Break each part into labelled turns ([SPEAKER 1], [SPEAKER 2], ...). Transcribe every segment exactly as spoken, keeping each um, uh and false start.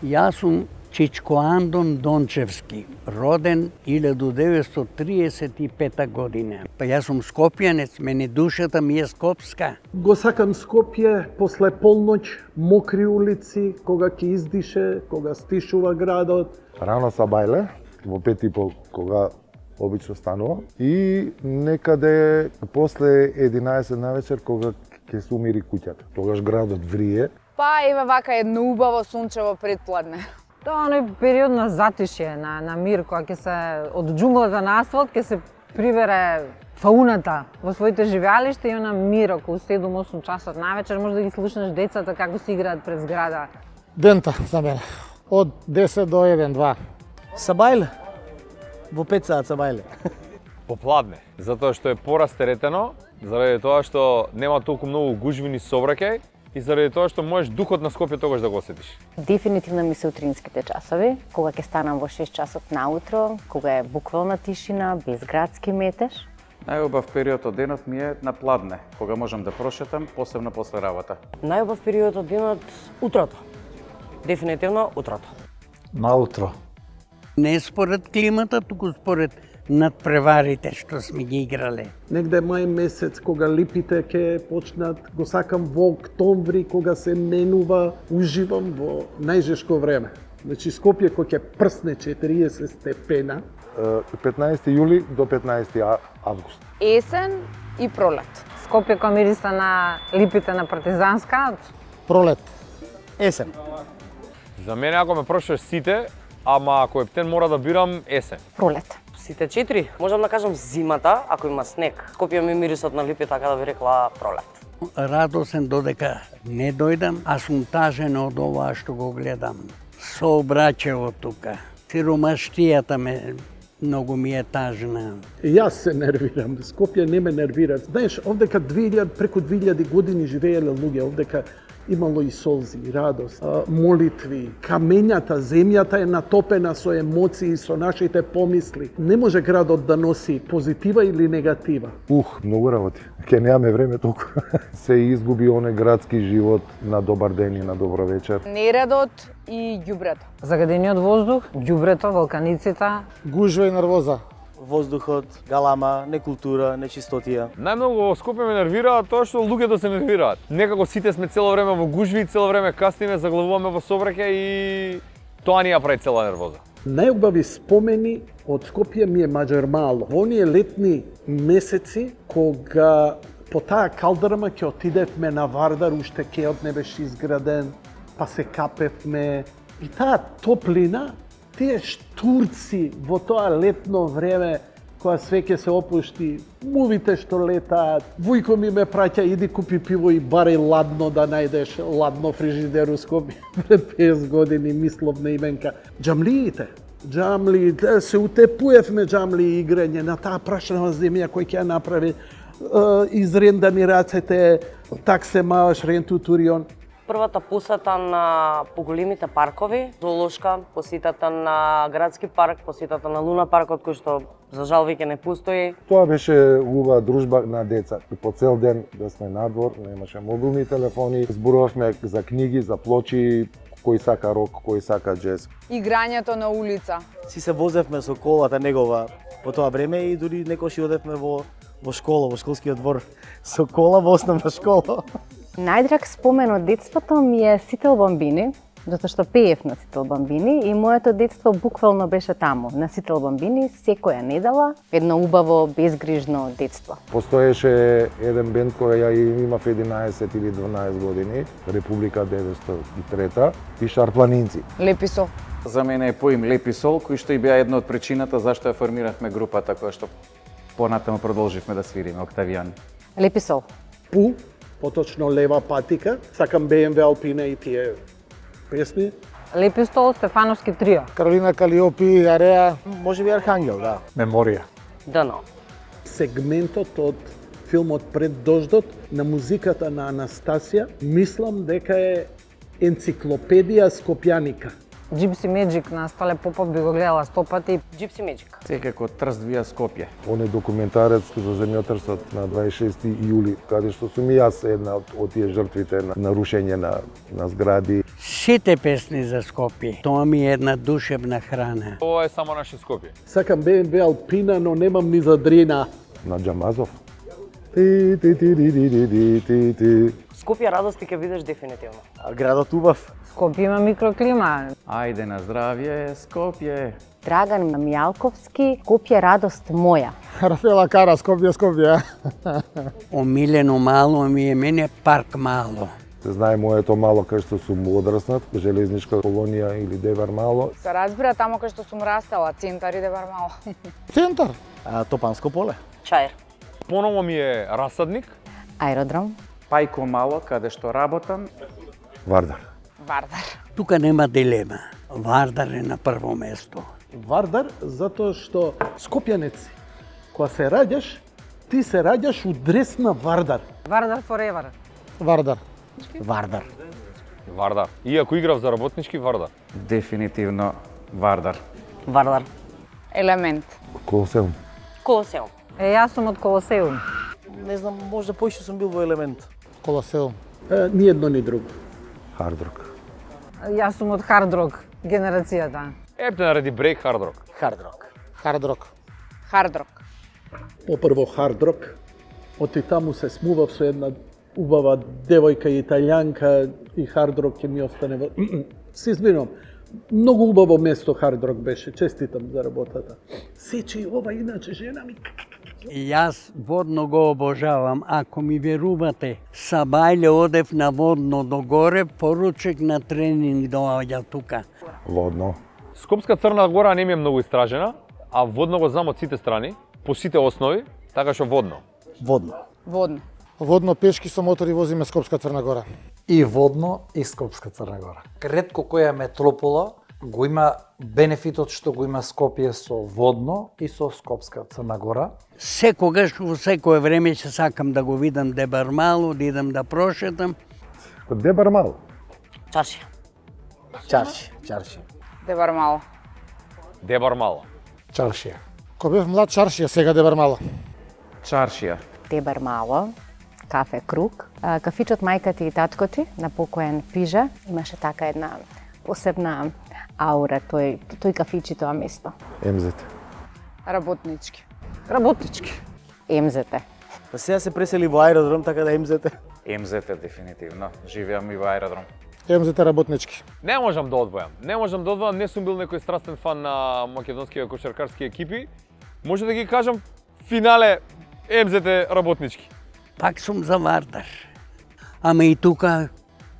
[SPEAKER 1] Јас сум Чичко Андон Дончевски, роден илјаду деветстотини триесет и пета година. Па јас сум скопјанец, мене душата ми е скопска.
[SPEAKER 2] Го сакам Скопје после полноќ, мокри улици, кога ќе издише, кога стишува градот.
[SPEAKER 3] Рано сабајле, во пет и пол, кога обично станува. И некаде после единаесет на вечер, кога ќе се умири куќата. Тогаш градот врие.
[SPEAKER 4] Па еве вака едно убаво сончево предпладне.
[SPEAKER 5] Тоа е период на затишје, на, на мир, кога ќе се од џунглата на асфалт ќе се прибере фауната во своите живеалишта и она мир околу седум-осум часот навечер може да ги слушнеш децата како си играат пред зграда.
[SPEAKER 6] Дента за мене. Од десет до еден-два.
[SPEAKER 7] Сабајле. Во пет саат сабајле.
[SPEAKER 8] Попладне, затоа што е порастеретено, заради тоа што нема толку многу гужви ни сообраќај и заради тоа што можеш духот на Скопје тогаш да го осетиш.
[SPEAKER 9] Дефинитивно ми се утринските часови, кога ќе станам во шест часот наутро, кога е буквална тишина, без градски метеж.
[SPEAKER 10] Најубав период од денот ми е на пладне, кога можам да прошетам, посебно после работа.
[SPEAKER 7] Најубав период од денот утрото. Дефинитивно утрото.
[SPEAKER 6] Наутро.
[SPEAKER 1] Не според климата, туку според надпреварите што сме ги играле.
[SPEAKER 2] Негде мај месец, кога липите ќе почнат, го сакам во октомври, кога се менува, уживам во најжешко време. Значи Скопје кој ќе прсне четириесет степена.
[SPEAKER 3] петнаесети јули до петнаесети август.
[SPEAKER 4] Есен и пролет.
[SPEAKER 5] Скопје кој мириса на липите на Партизанска.
[SPEAKER 6] Пролет.
[SPEAKER 7] Есен.
[SPEAKER 8] За мене ако ме прашаш сите, ама ако е птен мора да бирам есен.
[SPEAKER 9] Пролет.
[SPEAKER 7] Сите четири. Можам да кажам зимата, ако има снег. Скопје ми мирисот на липи, така да би рекла пролет.
[SPEAKER 1] Радосен додека не дојдам, а сум тажен од ова што го гледам. Сообраќајот тука. Сиромаштијата ме многу ми е тажна.
[SPEAKER 2] Јас се нервирам, Скопје не ме нервира. Знаеш, овдека две илјади, преку две илјади години живееле луѓе, овдека имало и солзи, и радост, молитви, камењата, земјата е натопена со емоции, со нашите помисли. Не може градот да носи позитива или негатива.
[SPEAKER 3] Ух, многу работи. Ке немаме време толку. Се изгуби оне градски живот на добар ден и на добро вечер.
[SPEAKER 4] Нередот и ѓубрето.
[SPEAKER 5] Загадениот воздух, ѓубрето, вулканиците.
[SPEAKER 6] Гужва и нервоза.
[SPEAKER 7] Воздухот, галама, некултура, нечистотија.
[SPEAKER 8] Најмногу во Скопје ме нервира тоа што луѓето се нервираат. Некако сите сме цело време во гужви, цело време касниме, заглавуваме во сообраќај и тоа ни ја прави цела нервоза.
[SPEAKER 2] Најубави спомени од Скопје ми е Маџармало. Во оние летни месеци кога по таа калдрма ќе отидевме на Вардар, уште кеот не беше изграден, па се капевме и таа топлина. Тие штурци во тоа летно време, кога све ќе се опушти, мувите што летаат, вујко ми ме праќа, иди купи пиво и барај ладно да најдеш ладно фрижидер у Скопје. Пред песет години мислов на именка. Џамлиите, џамли, се утепуевме џамли играње на таа прашнава земја кој ќе ја направи, изрендани рацете, таксе мааш ренту турион.
[SPEAKER 7] Првата посета на поголемите паркови, зоолошка, посетата на градски парк, посетата на Луна паркот кој што за жал веќе не постои.
[SPEAKER 3] Тоа беше убава дружба на деца. По цел ден да сме надвор, немаше мобилни телефони, зборувавме за книги, за плочи, кој сака рок, кој сака џез.
[SPEAKER 4] Играњето на улица.
[SPEAKER 7] Си се возевме со колата негова по тоа време и дури некош одевме во во школа, во школскиот двор со кола во основна школа.
[SPEAKER 9] Најдраг спомен од детството ми е Сител Бамбини, затоа што пеев на Сител Бамбини и моето детство буквално беше таму, на Сител Бамбини, секоја недела, едно убаво, безгрижно детство.
[SPEAKER 3] Постоеше еден бенд кој ја имав единаесет или дванаесет години, Република деветстотини и трета, и Шарпланинци.
[SPEAKER 4] Леписол.
[SPEAKER 10] За мене е поим Леписол, кој што и беа една од причината зашто ја формиравме групата која што понатаму продолживме да свириме, Октавијани.
[SPEAKER 9] Леписол.
[SPEAKER 2] Пу, поточно Лева патика, сакам Бе Ем Ве Алпина и тие песни.
[SPEAKER 5] Лепистол, Стефановски трио.
[SPEAKER 6] Каролина Калиопи, Ареа.
[SPEAKER 7] Може би Архангел, да.
[SPEAKER 6] Меморија.
[SPEAKER 7] Дано.
[SPEAKER 2] Сегментот од филмот Пред дождот на музиката на Анастасија, мислам дека е енциклопедија скопјаника.
[SPEAKER 5] Gypsy Magic на Стале Попов би го гледала сто пати.
[SPEAKER 7] Gypsy Magic.
[SPEAKER 10] Секако Трст вија Скопје.
[SPEAKER 3] Он е документарец за земјотрсот на дваесет и шести јули, каде што сум и јас една од, од тие жртвите на нарушење на, на згради.
[SPEAKER 1] Сите песни за Скопје. Тоа ми е една душевна храна.
[SPEAKER 8] Ова е само наше Скопје.
[SPEAKER 2] Сакам Б М В Алпина, но немам ни за Дрина.
[SPEAKER 3] На Джамазов. Ти ти ти ти ти ти ти ти.
[SPEAKER 7] Скопје радости ќе видиш дефинитивно.
[SPEAKER 11] А градот убав.
[SPEAKER 5] Скопје има микроклима.
[SPEAKER 10] Ајде на здравје, Скопје.
[SPEAKER 9] Драган Мијалковски, Скопје радост моја.
[SPEAKER 6] Рафела Кара, Скопје, Скопје.
[SPEAKER 1] Омилено мало ми е мене парк мало.
[SPEAKER 3] Се знае моето мало кај што сум одраснат, железничка колонија или Девар мало.
[SPEAKER 4] Се разбира тамо кај што сум растала, центар и Девар мало.
[SPEAKER 6] Центар.
[SPEAKER 11] А Топанско поле.
[SPEAKER 7] Чаир.
[SPEAKER 8] Поново ми е Расадник.
[SPEAKER 9] Аеродром.
[SPEAKER 10] Пајко мало, каде што работам.
[SPEAKER 3] Вардар.
[SPEAKER 4] Вардар.
[SPEAKER 1] Тука нема дилема. Вардар е на прво место.
[SPEAKER 2] Вардар, затоа што скопјанец си. Кога се раѓаш, ти се раѓаш у дрес на Вардар.
[SPEAKER 5] Вардар forever.
[SPEAKER 6] Вардар.
[SPEAKER 11] Вардар.
[SPEAKER 8] Вардар. Иако играв за работнички, Вардар.
[SPEAKER 10] Дефинитивно Вардар.
[SPEAKER 7] Вардар.
[SPEAKER 4] Елемент.
[SPEAKER 3] Колосеум.
[SPEAKER 7] Колосеум.
[SPEAKER 5] Е, јас сум од Колосеум.
[SPEAKER 11] Не знам, може поише сум бил во Елемент.
[SPEAKER 6] Колосеум.
[SPEAKER 2] Е, ни едно ни друго.
[SPEAKER 3] Хардрок.
[SPEAKER 5] Јас сум од Хардрок генерацијата.
[SPEAKER 8] Епте нареди брейк хардрок.
[SPEAKER 11] Хардрок.
[SPEAKER 6] Хардрок.
[SPEAKER 4] Хардрок.
[SPEAKER 2] Попрво хардрок, оти таму се смував со една убава девојка италијанка и хардрок ќе ми остане во... Се извинувам, многу убаво место хардрок беше, честитам за работата. Сечи ова иначе жена ми...
[SPEAKER 1] Јас водно го обожавам. Ако ми верувате, сабајле одев на водно до горе, поручек на тренинг доаѓа тука.
[SPEAKER 3] Водно.
[SPEAKER 8] Скопска Црна Гора не ми е многу истражена, а водно го знам од сите страни, по сите основи, така што водно.
[SPEAKER 11] Водно.
[SPEAKER 4] Водно.
[SPEAKER 6] Водно пешки со мотори возиме Скопска Црна Гора.
[SPEAKER 12] И водно и Скопска Црна Гора. Ретко која метропола го има бенефитот што го има Скопје со водно и со Скопска Црна Гора.
[SPEAKER 1] Секогаш, во секое време ќе сакам да го видам Дебар мало, да идам да прошетам.
[SPEAKER 3] Дебар мало.
[SPEAKER 7] Чаршија.
[SPEAKER 11] Чарши. Чарши.
[SPEAKER 4] Девар мало.
[SPEAKER 8] Дебар мало.
[SPEAKER 6] Чаршија. Кога бев млад, чаршија, сега Дебар мало.
[SPEAKER 10] Чаршија.
[SPEAKER 9] Дебар мало. Кафе Круг. А, кафичот мајка ти и татко ти на покоен Пижа имаше така една посебна аура тој тој кафичи тоа место.
[SPEAKER 3] Ем Зет.
[SPEAKER 4] Работнички.
[SPEAKER 5] Работнички.
[SPEAKER 9] Ем Зет.
[SPEAKER 11] Па сега се пресели во аеродром, така да Ем Зет.
[SPEAKER 10] Ем Зет дефинитивно. Живеам и во аеродром.
[SPEAKER 6] Ем Зет работнички.
[SPEAKER 8] Не можам да одвојам. Не можам да одвојам, не сум бил некој страстен фан на македонските кошаркарски екипи. Може да ги кажам, финале Ем Зет работнички.
[SPEAKER 1] Пак сум за Вардар. Ама и тука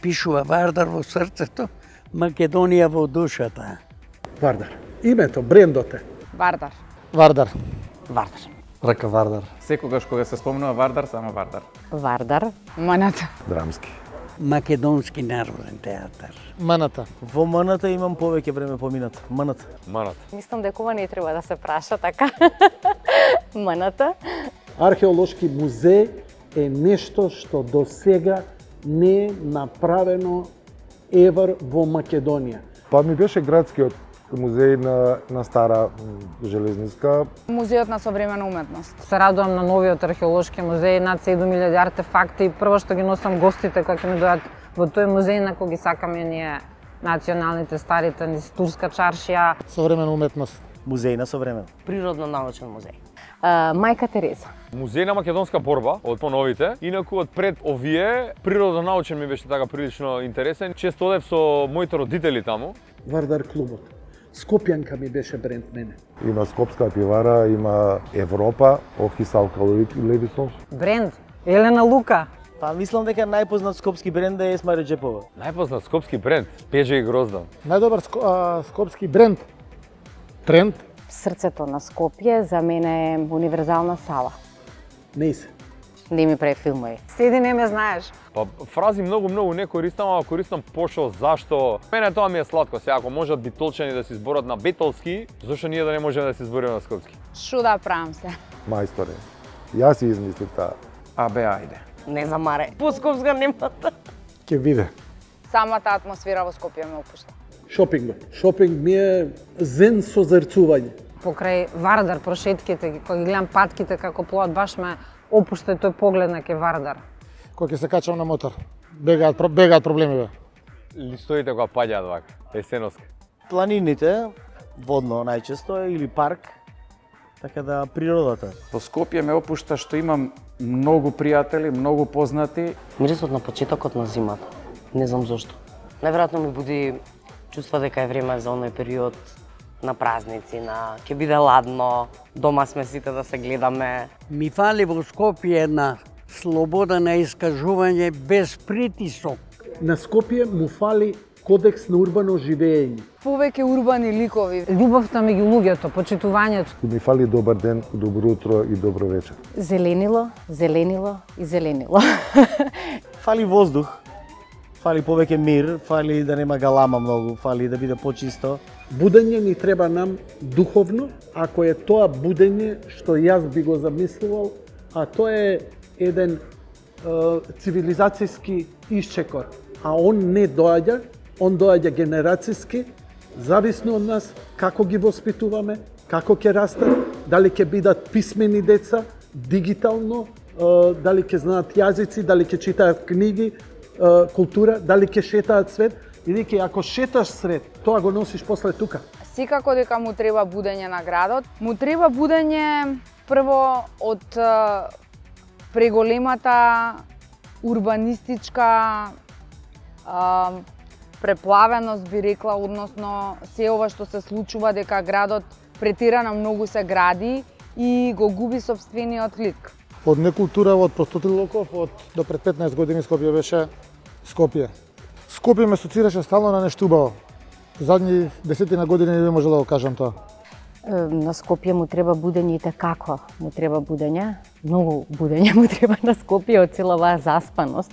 [SPEAKER 1] пишува Вардар во срцето, Македонија во душата.
[SPEAKER 2] Вардар. Името, брендот е.
[SPEAKER 4] Вардар.
[SPEAKER 6] Вардар.
[SPEAKER 7] Вардар.
[SPEAKER 12] Рака Вардар.
[SPEAKER 10] Секогаш кога се спомнува Вардар, само Вардар.
[SPEAKER 9] Вардар.
[SPEAKER 4] Маната.
[SPEAKER 3] Драмски.
[SPEAKER 1] Македонски народен театар.
[SPEAKER 6] Маната.
[SPEAKER 11] Во Маната имам повеќе време поминато. Маната.
[SPEAKER 8] Манат.
[SPEAKER 9] Мислам дека ова не треба да се праша така. Маната.
[SPEAKER 2] Археолошки музеј е нешто што до сега не е направено евар во Македонија.
[SPEAKER 3] Па ми беше градскиот музеј на, на стара железниска.
[SPEAKER 4] Музеот на современа уметност.
[SPEAKER 5] Се радувам на новиот археолошки музеј, над седум илјади артефакти и прво што ги носам гостите кога ќе ми дојдат во тој музеј на кој ги сакаме ние националните старите низ турска чаршија.
[SPEAKER 6] Современа уметност.
[SPEAKER 11] Музеј на современ.
[SPEAKER 7] Природно-научен музеј.
[SPEAKER 9] А, мајка Тереза.
[SPEAKER 8] Музеј на македонска борба од поновите, инаку од пред овие природонаучен ми беше така прилично интересен. Често одев со моите родители таму.
[SPEAKER 2] Вардар клубот. Скопјанка ми беше бренд мене.
[SPEAKER 3] Има Скопска пивара, има Европа, Офис Алкалоид Левисон.
[SPEAKER 5] Бренд Елена Лука.
[SPEAKER 11] Па мислам дека најпознат скопски бренд е Есма Реджепова.
[SPEAKER 8] Најпознат скопски бренд, Пежа и Гроздан.
[SPEAKER 6] Најдобар ско, а, скопски бренд. Тренд.
[SPEAKER 9] Срцето на Скопје за мене е универзална сала.
[SPEAKER 2] Не се.
[SPEAKER 9] Не ми прави филмови.
[SPEAKER 5] Седи не ме знаеш.
[SPEAKER 8] Па фрази многу многу не користам, ама користам пошо зашто. Мене тоа ми е сладко, сега ако можат битолчани да се изборат на битолски, зашто ние да не можеме да се избориме на скопски?
[SPEAKER 4] Шо да правам се?
[SPEAKER 3] Мајсторе. Јас си измислив таа.
[SPEAKER 10] Абе, ајде.
[SPEAKER 7] Не замаре. По скопска немата.
[SPEAKER 6] Ке биде.
[SPEAKER 4] Самата атмосфера во Скопје ме опушта.
[SPEAKER 2] Шопингот. Шопинг ми е зен со зрцување.
[SPEAKER 5] Покрај Вардар прошетките, кога ги гледам патките како плоат, баш ме опушта тој поглед на ке Вардар.
[SPEAKER 6] Кога ќе се качам на мотор, бегаат, бегаат проблемиве.
[SPEAKER 8] листоите кога паѓаат вака, есеноска?
[SPEAKER 11] Планините, водно најчесто или парк, така да природата.
[SPEAKER 10] Во Скопје ме опушта што имам многу пријатели, многу познати.
[SPEAKER 7] Мирисот на почетокот на зимата. Не знам зошто. Најверојатно ми буди чувства дека е време за оној период на празници, на ќе биде ладно, дома сме сите да се гледаме.
[SPEAKER 1] Ми фали во Скопје една слобода на искажување без притисок.
[SPEAKER 2] На Скопје му фали кодекс на урбано живење.
[SPEAKER 4] Повеќе урбани ликови.
[SPEAKER 5] Љубовта меѓу луѓето, почитувањето.
[SPEAKER 3] Ми фали добар ден, добро утро и добро вечер.
[SPEAKER 9] Зеленило, зеленило и зеленило.
[SPEAKER 11] Фали воздух, фали повеќе мир, фали да нема галама многу, фали да биде почисто.
[SPEAKER 2] Будење ни треба нам духовно, ако е тоа будење што јас би го замислувал, а тоа е еден е, цивилизацијски исчекор. А он не доаѓа, он доаѓа генерацијски, зависно од нас како ги воспитуваме, како ќе растат, дали ќе бидат писмени деца, дигитално, е, дали ќе знаат јазици, дали ќе читаат книги, е, култура, дали ќе шетаат свет. Бидејќи ако шеташ свет, тоа го носиш после тука.
[SPEAKER 4] Секако дека му треба будење на градот. Му треба будење прво од преголемата урбанистичка а, преплавеност, би рекла, односно се ова што се случува, дека градот претирано многу се гради и го губи сопствениот лик.
[SPEAKER 6] Од некултура, од простотилоков, од до пред петнаесет години Скопје беше Скопје. Скопје ме асоцираше стално на нешто убаво. Задни десетина години не би можела да го кажам тоа.
[SPEAKER 9] На Скопје му треба будење и како му треба будење. Многу будење му треба на Скопје од цела оваа заспаност.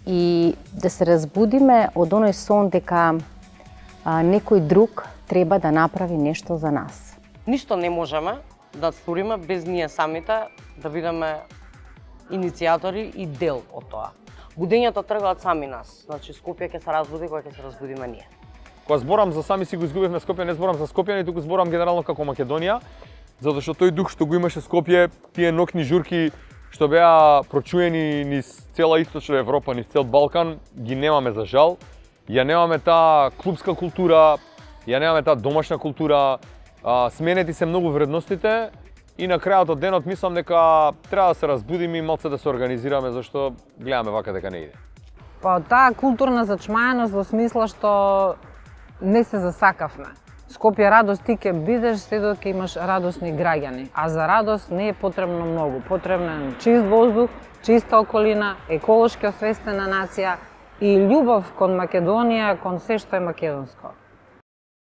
[SPEAKER 9] И да се разбудиме од оној сон дека а, некој друг треба да направи нешто за нас.
[SPEAKER 7] Ништо не можеме да сториме без ние самите да бидеме иницијатори и дел од тоа. Будењата тргаат сами нас. Значи Скопје ќе се разбуди кога ќе се разбудиме ние.
[SPEAKER 8] Кога зборам за сами си го изгубивме Скопје, не зборам за Скопјани, туку зборам генерално како Македонија, затоа што тој дух што го имаше Скопје, тие ноќни журки што беа прочуени низ цела источна Европа, низ цел Балкан, ги немаме за жал. Ја немаме таа клубска култура, ја немаме таа домашна култура, а, сменети се многу вредностите и на крајот од денот мислам дека треба да се разбудиме и малце да се организираме, зашто гледаме вака дека не иде.
[SPEAKER 5] Па таа културна зачмаеност во смисла што не се засакавме. Скопје радост ти ќе бидеш се додека имаш радосни граѓани, а за радост не е потребно многу. Потребен е чист воздух, чиста околина, еколошки освестена нација и љубов кон Македонија, кон се што е македонско.